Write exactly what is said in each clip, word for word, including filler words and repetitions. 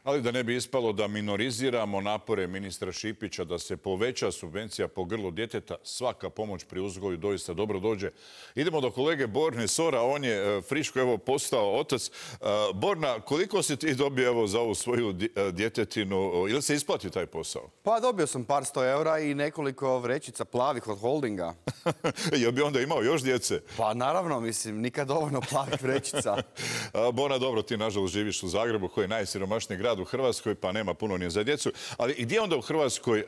Ali da ne bi ispalo da minoriziramo napore ministra Šipića da se poveća subvencija po grlu djeteta, svaka pomoć pri uzgoju doista dobro dođe. Idemo do kolege Borne Sora, on je friško evo postao otac. Borna, koliko si ti dobio evo za ovu svoju djetetinu? Ili se isplati taj posao? Pa dobio sam par sto eura i nekoliko vrećica plavih od holdinga. Jel bi onda imao još djece? Pa naravno, mislim, nikad dovoljno plavih vrećica. Borna, dobro, ti nažalost živiš u Zagrebu, koji je najsiromašniji grad u Hrvatskoj, pa nema puno ni za djecu. Ali gdje onda u Hrvatskoj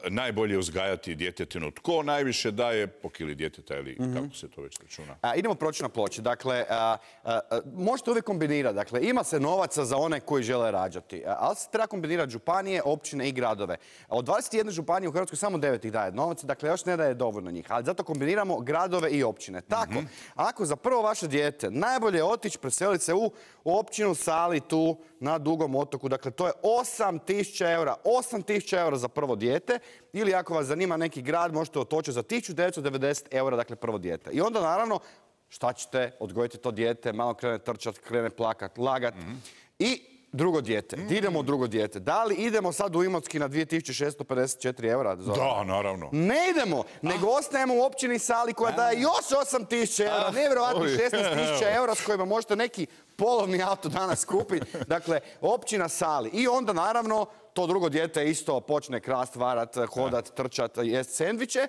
najbolje uzgajati djetetinu? Tko najviše daje po kili djeteta ili kako se to već računa? Idemo proći na ploči. Dakle, možete uvijek kombinirati. Dakle, ima se novaca za one koji žele rađati. Ali se treba kombinirati županije, općine i gradove. Od dvadeset jedne županije u Hrvatskoj samo devet ih daje novac. Dakle, još ne daje dovoljno njih. Ali zato kombiniramo gradove i općine. Tako, ako za prvo vaše dijete najbolje je otići, preseliti se u općinu Sali tu na Dugom otoku. Dakle, to je osam tisuća eura. osam tisuća eura za prvo dijete. Ili ako vas zanima neki grad, možete otočiti za tisuću devetsto devedeset eura, dakle, prvo dijete. I onda, naravno, šta ćete? Odgojiti to dijete, malo krene trčati, krene plakat, lagat. I drugo dijete. Mm. Idemo u drugo dijete. Da li idemo sad u Imotski na dvije tisuće šesto pedeset četiri eura? Da, naravno. Ne idemo, nego ah. ostajemo u općini Sali koja daje još osam tisuća eura. Ah. Nevjerovatno šesnaest tisuća eura s kojima možete neki polovni auto danas kupiti. Dakle, općina Sali. I onda, naravno, to drugo dijete isto počne krast, varat, hodat, trčat, jest sendviče.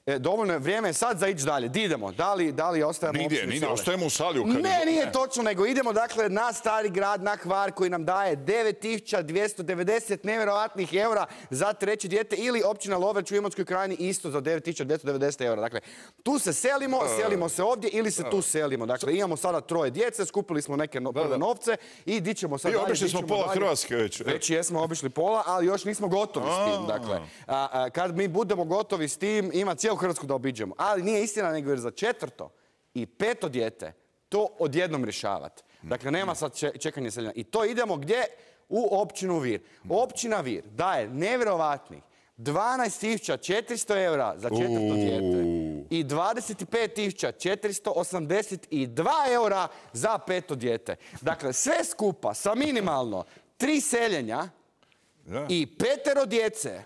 E, dovoljno je, vrijeme je sad za ići dalje. Di idemo? Da li, da li ostajemo u općini Sali? Nigdje, ostajemo u Sali. U ne, nije točno, nego idemo dakle na Stari grad, na Hvar, koji nam daje devet tisuća dvjesto devedeset nevjerojatnih eura za treće dijete, ili općina Lovreč u Imotskoj krajini isto za devet tisuća dvjesto devedeset eura. Dakle, tu se selimo, selimo se ovdje ili se tu selimo. Dakle, imamo sada troje djece, skupili smo neke no, prve novce i di ćemo sad dalje. I obišli smo pola Hrvatske već. Već jesmo obišli pola, ali još nismo gotovi s tim. Dakle, a, a, kad mi budemo gotovi s tim, ima cijelu Hrvatsku da obiđemo. Ali nije istina, nego jer za četvrto i peto dijete to odjednom rješavati. Dakle, nema sad čekanje seljenja. I to idemo gdje? U općinu Vir. Općina Vir daje nevjerovatnih dvanaest tisuća četiristo eura za četvrto dijete i dvadeset pet tisuća četiristo osamdeset dva eura za peto dijete. Dakle, sve skupa sa minimalno tri seljenja i petero djece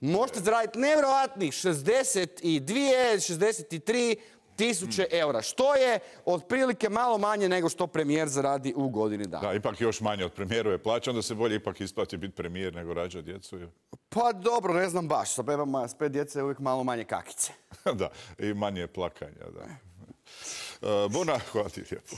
možete zaraditi nevjerovatnih šezdeset dvije, šezdeset tri tisuće eura, što je otprilike malo manje nego što premijer zaradi u godini dana. Da, ipak još manje od premijerove plaće, onda se bolje ipak isplati biti premijer nego rađati djecu. Pa dobro, ne znam baš, sa bebama s pet djece je uvijek malo manje kakice. Da, i manje plakanja, da. Uh, Bona, hvala ti lijepo.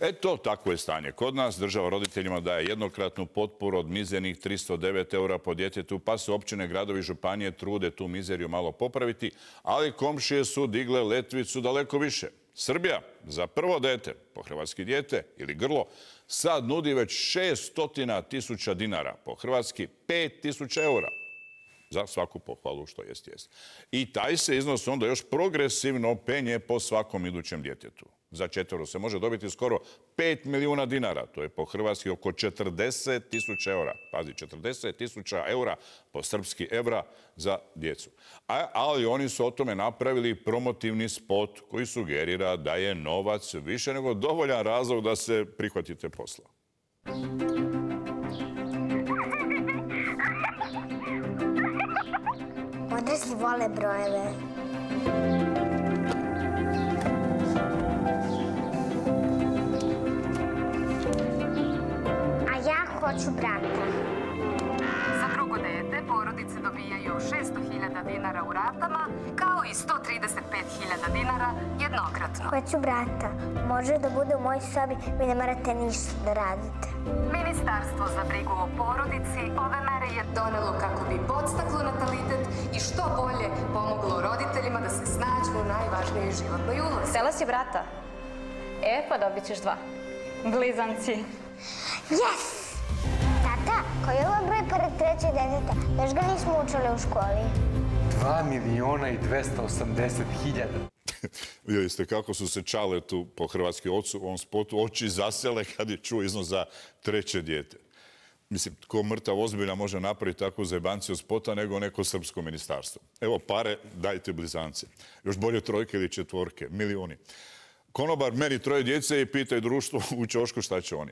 Eto, takvo je stanje kod nas. Država roditeljima daje jednokratnu potporu od mizernih tristo devet eura po djetetu, pa se općine, gradovi i županije trude tu mizeriju malo popraviti, ali komšije su digle letvicu daleko više. Srbija za prvo dete, po hrvatski dijete ili grlo, sad nudi već šesto tisuća dinara, po hrvatski pet tisuća eura. Za svaku pohvalu, što jest jest. I taj se iznos onda još progresivno penje po svakom idućem djetetu. Za četvero se može dobiti skoro pet milijuna dinara. To je po hrvatski oko četrdeset tisuća eura. Pazi, četrdeset tisuća eura po srpski evra za djecu. A, ali oni su o tome napravili promotivni spot koji sugerira da je novac više nego dovoljan razlog da se prihvatite posla. Odrasli vole brojeve. A ja hoću brata. Za drugo dete porodice dobijaju šesto hiljada dinara u ratama, kao i sto trideset pet hiljada dinara jednokratno. Hoću brata. Može da bude u mojoj sobi, vi ne morate ništa da radite. Ministarstvo za brigu o porodici ove mere je donelo kako bi podstaklo natalitet i što bolje pomoglo roditeljima da se snađu u najvažnijoj životnoj ulozi. Htjela si brata? E, pa dobit ćeš dva. Blizanci. Yes! Tata, koji je ovo broj pored trećeg deteta? Još ga nismo učili u školi. Dva miliona i dvesta osamdeset hiljada. Vidjeli ste kako su se čale tu po hrvatski ocu u ovom spotu oči zasele kad je čuo iznos za treće dijete. Mislim, tko mrtav ozbiljno može napraviti takvu zajebanciju spota nego neko srpsko ministarstvo. Evo pare, dajte blizance. Još bolje trojke ili četvorke, milioni. konobar meri troje djece i pitaju društvo u ćošku šta će oni.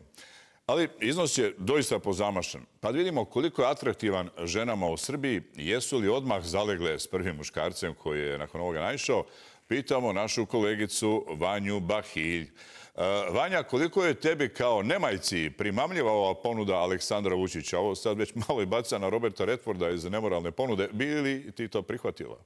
Ali iznos je doista pozamašan. Pa vidimo koliko je atraktivan ženama u Srbiji. Jesu li odmah zalegle s prvim muškarcem koji je nakon ovoga naišao? Pitamo našu kolegicu Vanju Bahilj. Vanja, koliko je tebi kao nemajci primamljiva ova ponuda Aleksandra Vučića? Ovo sad već malo i baca na Roberta Redforda iz nemoralne ponude. Bi li ti to prihvatila?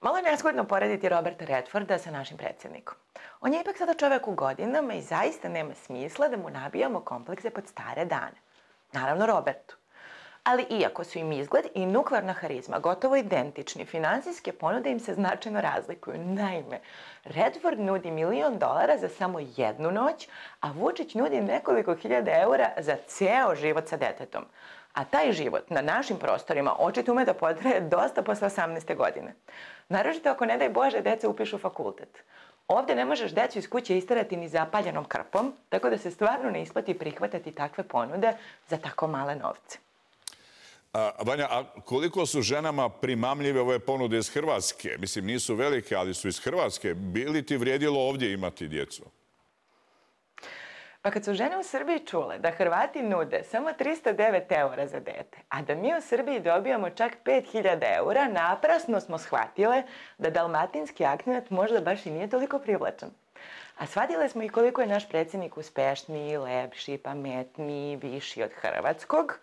Malo je nezgodno porediti Roberta Redforda sa našim predsjednikom. On je ipak sada čovjek u godinama i zaista nema smisla da mu nabijamo komplekse pod stare dane. Naravno Robertu. Ali iako su im izgled i nuklearna harizma gotovo identični, finansijske ponude im se značajno razlikuju. Naime, Redford nudi milion dolara za samo jednu noć, a Vučić nudi nekoliko hiljada eura za ceo život sa detetom. A taj život na našim prostorima očito ume da potraje dosta posle osamnaeste godine. Naročito ako, ne daj Bože, deca upišu fakultet. Ovdje ne možeš decu iz kuće isterati ni zapaljenom krpom, tako da se stvarno ne isplati prihvatati takve ponude za tako male novce. A, Vanja, a koliko su ženama primamljive ove ponude iz Hrvatske? Mislim, nisu velike, ali su iz Hrvatske. Bi li ti vrijedilo ovdje imati djecu? Pa kad su žene u Srbiji čule da Hrvati nude samo tristo devet eura za dete, a da mi u Srbiji dobijamo čak pet hiljada eura, naprasno smo shvatile da dalmatinski akcenat možda baš i nije toliko privlačan. A shvatile smo i koliko je naš predsjednik uspešniji, lepši, pametniji, viši od hrvatskog.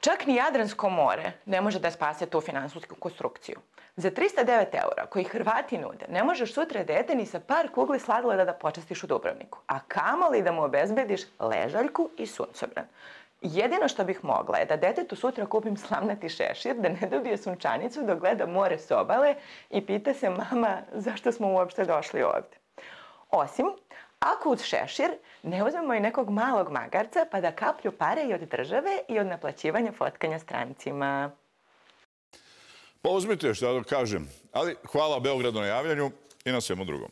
Čak ni Jadransko more ne može da spase tu finansijsku konstrukciju. Za tristo devet eura koji Hrvati nude ne možeš sutra dete ni sa par kugli sladoleda da počastiš u Dubrovniku, a kamoli da mu obezbediš ležaljku i suncobran. Jedino što bih mogla je da detetu sutra kupim slamnati šešir, da ne dobije sunčanicu dok gleda more s obale i pita se mama zašto smo uopšte došli ovdje. Osim, ako uz šešir ne uzmemo i nekog malog magarca pa da kaplju pare i od države i od naplaćivanja fotkanja strancima. Pa uzmite šta da kažem. Ali hvala Beogradu na javljanju i na svemu drugom.